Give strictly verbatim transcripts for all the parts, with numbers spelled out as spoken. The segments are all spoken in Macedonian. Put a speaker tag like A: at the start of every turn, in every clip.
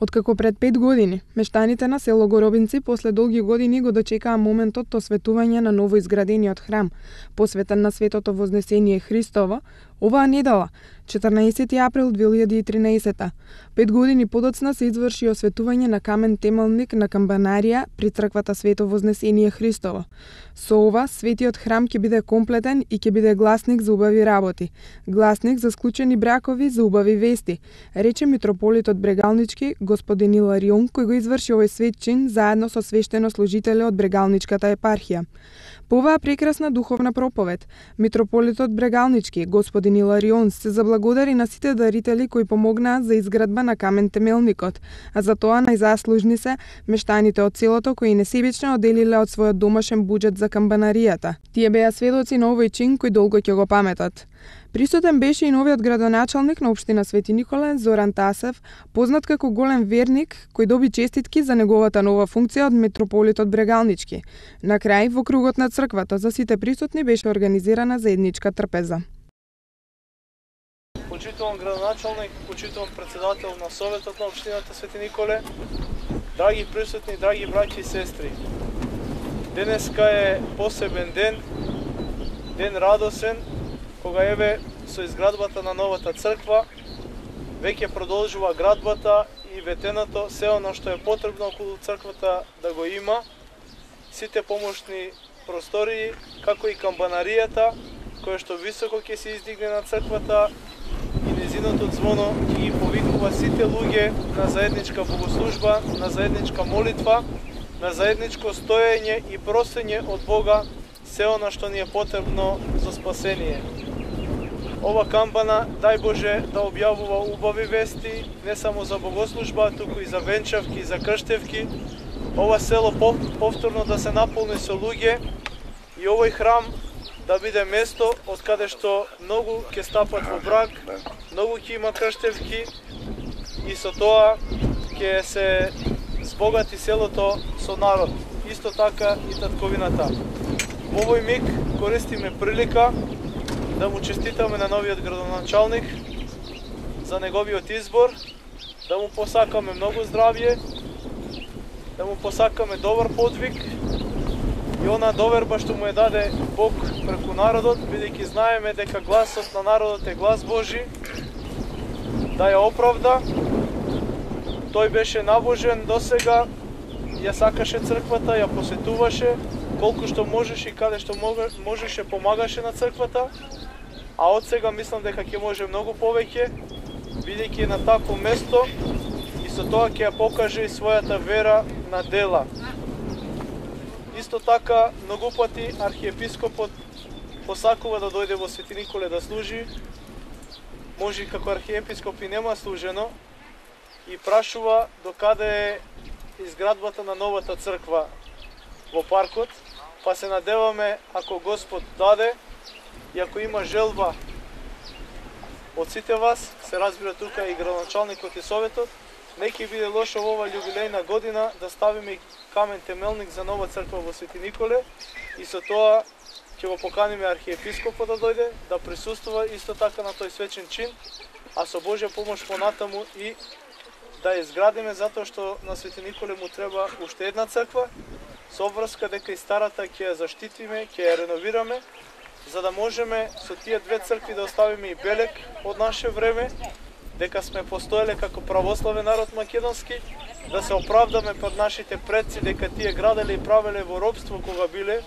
A: Откако пред пет години мештаните на село Горобинци после долги години го дочекаа моментот осветување на ново изградениот храм, посветен на Светото Вознесение Христово, оваа недела, четрнаесети април две илјади и тринаесета, пет години подоцна се изврши осветување на камен темелник на камбанарија при црквата Свето Вознесение Христово. Со ова, светиот храм ќе биде комплетен и ќе биде гласник за убави работи, гласник за склучени бракови, за убави вести, рече митрополитот Брегалнички господин Иларион, кој го изврши овој свет чин заедно со свештенослужители од Брегалничката епархија. По оваа прекрасна духовна проповед, митрополитот Брегалнички, господин Иларион, се заблагодари на сите дарители кои помогнаат за изградба на камен темелникот, а за тоа најзаслужни се мештаните од селото кои несебично одделиле од својот домашен буџет за камбанаријата. Тие беа сведоци на овој чин кој долго ќе го паметат. Присутен беше и новиот градоначалник на општина Свети Николе, Зоран Тасев, познат како голем верник, кој доби честитки за неговата нова функција од митрополитот Брегалнички. На крај, во кругот на црквата за сите присутни беше организирана заедничка трпеза.
B: Почитуван градоначалник, почитуван председател на Советот на општината Свети Николе, драги присутни, драги браќи и сестри. Денеска е посебен ден, ден радосен, кога еве со изградбата на новата црква веќе продолжува градбата и ветеното се оно што е потребно околу црквата да го има, сите помошни простории, како и камбанаријата, која што високо ќе се издигне на црквата и незиното ѕвоно ќе ги повикува сите луѓе на заедничка богослужба, на заедничка молитва, на заедничко стоење и просење од Бога се оно што ни е потребно за спасение. Ова камбана, дај Боже, да објавува убави вести, не само за богослужба, туку и за венчавки, и за крштевки. Ова село повторно да се наполни со луѓе и овој храм да биде место од каде што многу ќе стапат во брак, многу ќе има крштевки и со тоа ќе се збогати селото со народ. Исто така и татковината. Во овој миг користиме прилика да му честитаме на новиот градоначалник за неговиот избор, да му посакаме многу здравје, да му посакаме добар подвиг и она доверба што му е даде Бог преку народот, бидејќи знаеме дека гласот на народот е глас Божи, да ја оправда. Тој беше набожен досега, ја сакаше црквата, ја посетуваше, колку што можеше и каде што можеше помагаше на црквата, а од сега мислам дека ќе може многу повеќе, бидејќи е на такво место и со тоа ќе ја покаже и својата вера на дела. Исто така, многу пати архиепископот посакува да дојде во Свети Николе да служи, може и како архиепископ и нема служено, и прашува докаде е изградбата на новата црква во паркот, па се надеваме ако Господ даде и ако има желба од сите вас, се разбира тука и градоначалникот и советот, не ќе биде лошо во ова јубилејна година да ставиме камен темелник за нова црква во Свети Николе и со тоа ќе го поканиме архиепископот да дојде, да присуствува исто така на тој свечен чин, а со Божја помош понатаму и да ја изградиме, затоа што на Свети Николе му треба уште една црква, со врска дека и старата ќе ја заштитиме, ќе ја реновираме, за да можеме со тие две цркви да оставиме и белег од наше време, дека сме постоеле како православен народ македонски, да се оправдаме пред нашите предци дека тие граделе и правеле во робство кога биле,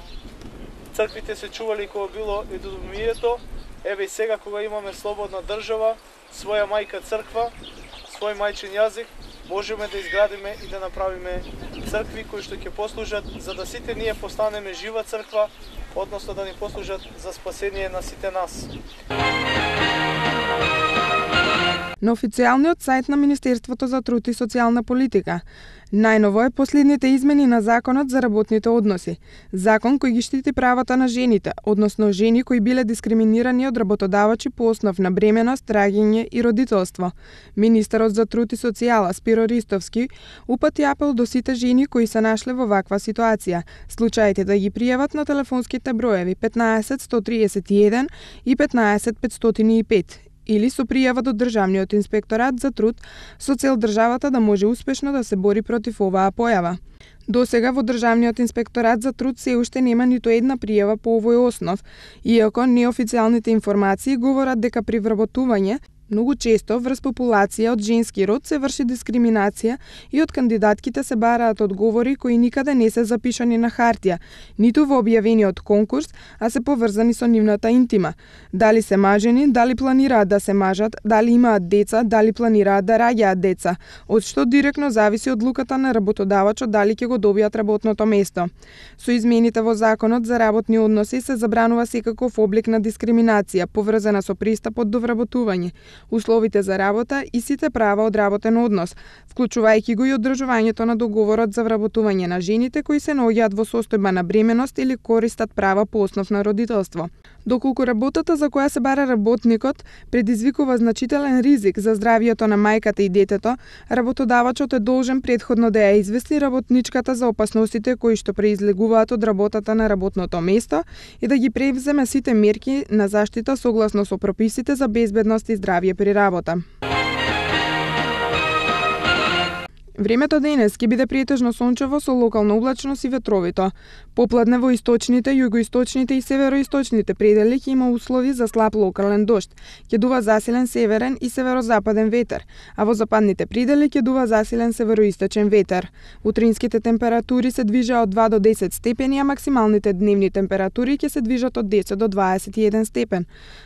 B: црквите се чували кога било едомието, еве и сега кога имаме слободна држава, своја мајка црква, свој мајчин јазик, можеме да изградиме и да направиме цркви кои што ќе послужат за да сите ние постанеме жива црква, односно да ни послужат за спасение на сите нас.
A: На официјалниот сајт на Министерството за труд и социјална политика најново е последните измени на Законот за работните односи. Закон кој ги штити правата на жените, односно жени кои биле дискриминирани од работодавачи по основ на бременост, раѓање и родителство. Министерот за труд и социјала Спиро Ристовски упати апел до сите жени кои се нашле во ваква ситуација. Случаите да ги пријават на телефонските броеви петнаесет сто тридесет и еден и петнаесет петстотини и пет или со пријава до Државниот инспекторат за труд со цел државата да може успешно да се бори против оваа појава. Досега во Државниот инспекторат за труд се уште нема ниту една пријава по овој основ, иако неофицијалните информации говорат дека при вработување многу често врз популација од женски род се врши дискриминација и од кандидатките се бараат одговори кои никаде не се запишани на хартија, ниту во објавениот конкурс, а се поврзани со нивната интима. Дали се мажени, дали планираат да се мажат, дали имаат деца, дали планираат да раѓаат деца, од што директно зависи од луката на работодавачот дали ќе го добијат работното место. Со измените во Законот за работни односи се забранува секаков облик на дискриминација поврзана со пристапот до вработување, условите за работа и сите права од работен однос, вклучувајќи го и одржувањето на договорот за вработување на жените кои се наоѓаат во состојба на бременост или користат права по основ на родителство. Доколку работата за која се бара работникот предизвикува значителен ризик за здравието на мајката и детето, работодавачот е должен претходно да ја извести работничката за опасностите кои што преизлегуваат од работата на работното место и да ги превземе сите мерки на заштита согласно со прописите за безбедност и здравје при работа. Времето денес ќе биде претежно сончево со локална облачност и ветровито. Попладне во источните, југоисточните и североисточните предели ќе има услови за слаб локален дожд. Ќе дува засилен северен и северозападен ветер, а во западните предели ќе дува засилен североисточен ветер. Утринските температури се движат од два до десет степени, а максималните дневни температури ќе се движат од десет до дваесет и еден степен.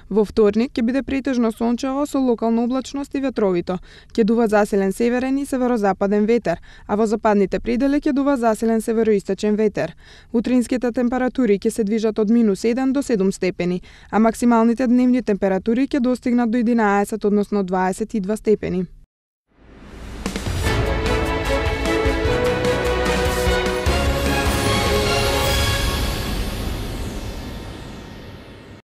A: Во вторник ќе биде претежно сончево со локална облачност и ветровито. Ќе дува засилен северен и северозападен ветер, а во западните предели ќе дува засилен североисточен ветер. Утринските температури ќе се движат од минус еден до седум степени, а максималните дневни температури ќе достигнат до единаесет, односно дваесет и два степени.